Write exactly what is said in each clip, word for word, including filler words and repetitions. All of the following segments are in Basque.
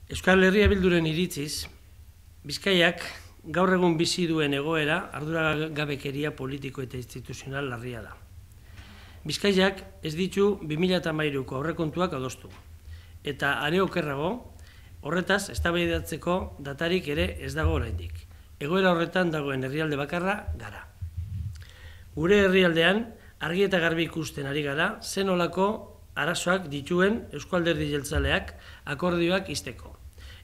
Euskal Herria Bilduren iritziz, Bizkaiak gaur egun bizi duen egoera arduragabekeria politiko eta instituzional larria da. Bizkaiak ez ditu bi mila hamairuko aurrekontuak adostu, eta are okerrago, horretaz eztabaidatzeko datarik ere ez dago oraindik. Egoera horretan dagoen herrialde bakarra gara. Gure herrialdean argi eta garbi ikusten ari gara zen olako arazoak dituen Eusko Alderdi Jeltzaleak akordioak izteko.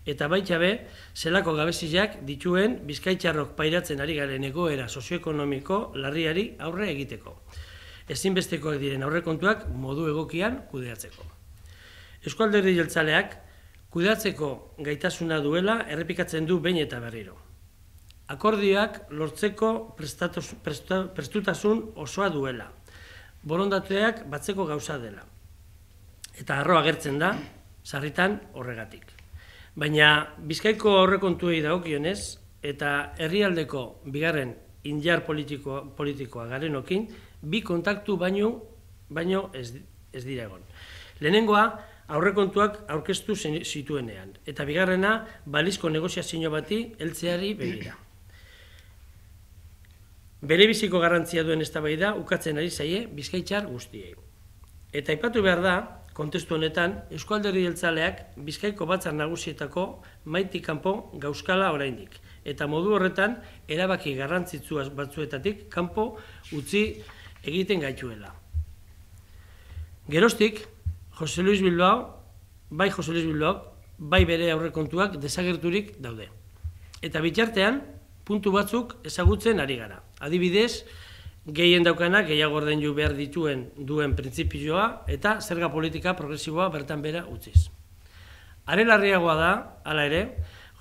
Eta baita be, zelako gabeziak dituen bizkaitxarrok pairatzen ari garen egoera sozioekonomiko larriari aurre egiteko. Ezinbestekoak diren aurrekontuak modu egokian kudeatzeko. Eusko Alderdi Jeltzaleak kudeatzeko gaitasuna duela errepikatzen du behin eta berriro. Akordioak lortzeko prestutasun osoa duela. Borondateak batzeko gauza dela. Eta harro agertzen da, sarritan horregatik. Baina Bizkaiko aurrekontuei dagokionez eta herrialdeko bigarren indar politiko, politikoa garenokin, bi kontaktu baino, baino ez, ez dira egon. Lehenengoa aurrekontuak aurkeztu zituenean, eta bigarrena balizko negoziazio bati heltzeari begira. Berebiziko garrantzia duen eztabaida ukatzen ari zaie bizkaitxar guztiei. Eta aipatu behar da, kontestu honetan, Eusko Alderdi Jeltzaleak Bizkaiko batzar nagusietako maitik kanpo gauzkala oraindik. Eta modu horretan, erabaki garrantzitsu batzuetatik kanpo utzi egiten gaituela. Geroztik, Jose Luis Bilbao, bai Jose Luis Bilbao, bai bere aurrekontuak desagerturik daude. Eta bitartean, puntu batzuk ezagutzen ari gara. Adibidez, gehien daukanak gehiago ordaindu behar dituen duen printzipioa eta zerga politika progresiboa bertan bera utziz. Are larriagoa da, hala ere,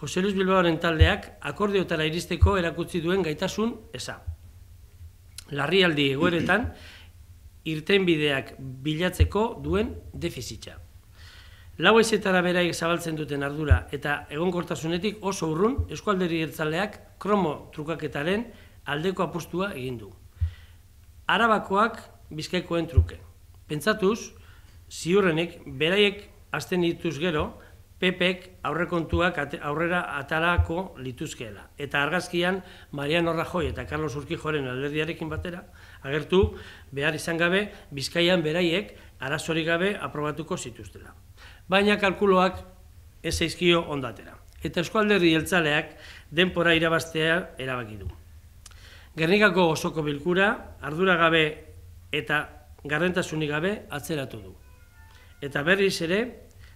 Jose Luis Bilbaoren taldeak akordioetara iristeko erakutsi duen gaitasun eza. Larrialdi egoeretan irtenbideak bilatzeko duen defizitza. Lau haizetara beraik zabaltzen duten ardura eta egonkortasunetik oso urrun Eusko Alderdi Jeltzaleak kromo trukaketaren aldeko apustua egin du. Arabakoak Bizkaikoen truke. Pentsatuz, ziurrenik, beraiek hasten dituz gero, P Pek aurrekontuak aurrera atarako lituzkeela. Eta argazkian, Mariano Rajoy eta Carlos Urquijoren alderdiarekin batera, agertu behar izan gabe, Bizkaian beraiek arazorik gabe aprobatuko zituztela. Baina kalkuloak ez zaizkio ondatera. Eta Eusko Alderdi Jeltzaleak denpora irabaztea erabaki du. Gernikako osoko bilkura, ardura gabe eta garrentasunik gabe atzeratu du. Eta berriz ere,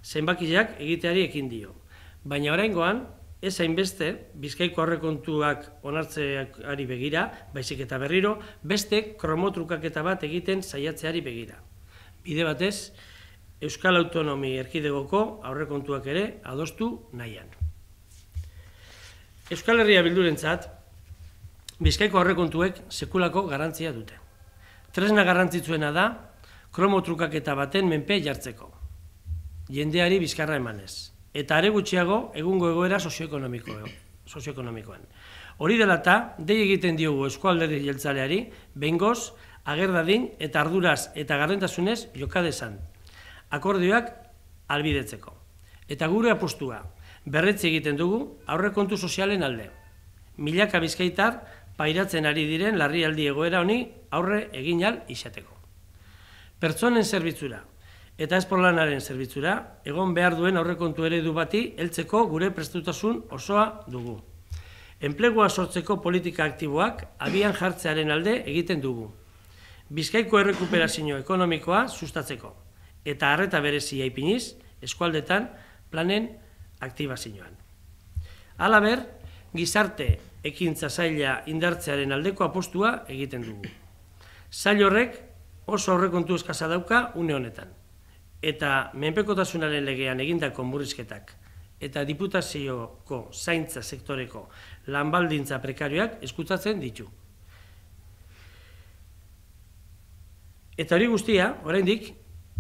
zenbakiak egiteari ekin dio. Baina oraingoan, ez hainbeste, Bizkaiko aurrekontuak onartzeari begira, baizik eta berriro, beste kromotrukaketa bat egiten saiatzeari begira. Bide batez, Euskal Autonomi Erkidegoko aurrekontuak ere adostu nahian. Euskal Herria Bildurentzat, Bizkaiko aurrekontuek sekulako garrantzia dute. Tresna garrantzitsuena da, kromotrukaketa baten menpe jartzeko. Jendeari bizkarra emanez. Eta are gutxiago egungo egoera sozioekonomikoan. Hori dela eta, dei egiten diogu Eusko Alderdi Jeltzaleari, behingoz, agerdadin eta arduraz eta garrentasunez jokadezan. Akordioak albidetzeko. Eta gure apostua, berretzi egiten dugu aurrekontu sozialen alde. Milaka bizkaitar pairatzen ari diren larrialdi egoera honi aurre egin ahal izateko. Pertsonen zerbitzura eta esporlanaren zerbitzura egon behar duen aurrekontu eredu bati heltzeko gure prestutasun osoa dugu. Enplegua sortzeko politika aktiboak abian jartzearen alde egiten dugu. Bizkaiko errekuperazio ekonomikoa sustatzeko eta arreta berezia ipiniz eskualdetan planen aktibazioan. Halaber, gizarte ekintza saila indartzearen aldeko apostua egiten dugu. Sail horrek oso aurrekontu eskasa dauka une honetan. Eta menpekotasunaren legean egindako murrizketak eta diputazioko zaintza sektoreko lanbaldintza prekarioak eskutatzen ditu. Eta hori guztia, oraindik,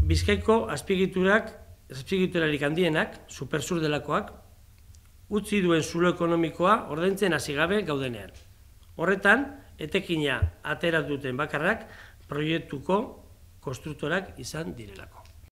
Bizkaiko azpiegiturak, azpiegiturarik handienak, supersur delakoak, utzi duen zulo ekonomikoa ordaintzen hasi gabe gaudenean. Horretan, etekina atera duten bakarrak proiektuko konstruktorak izan direlako.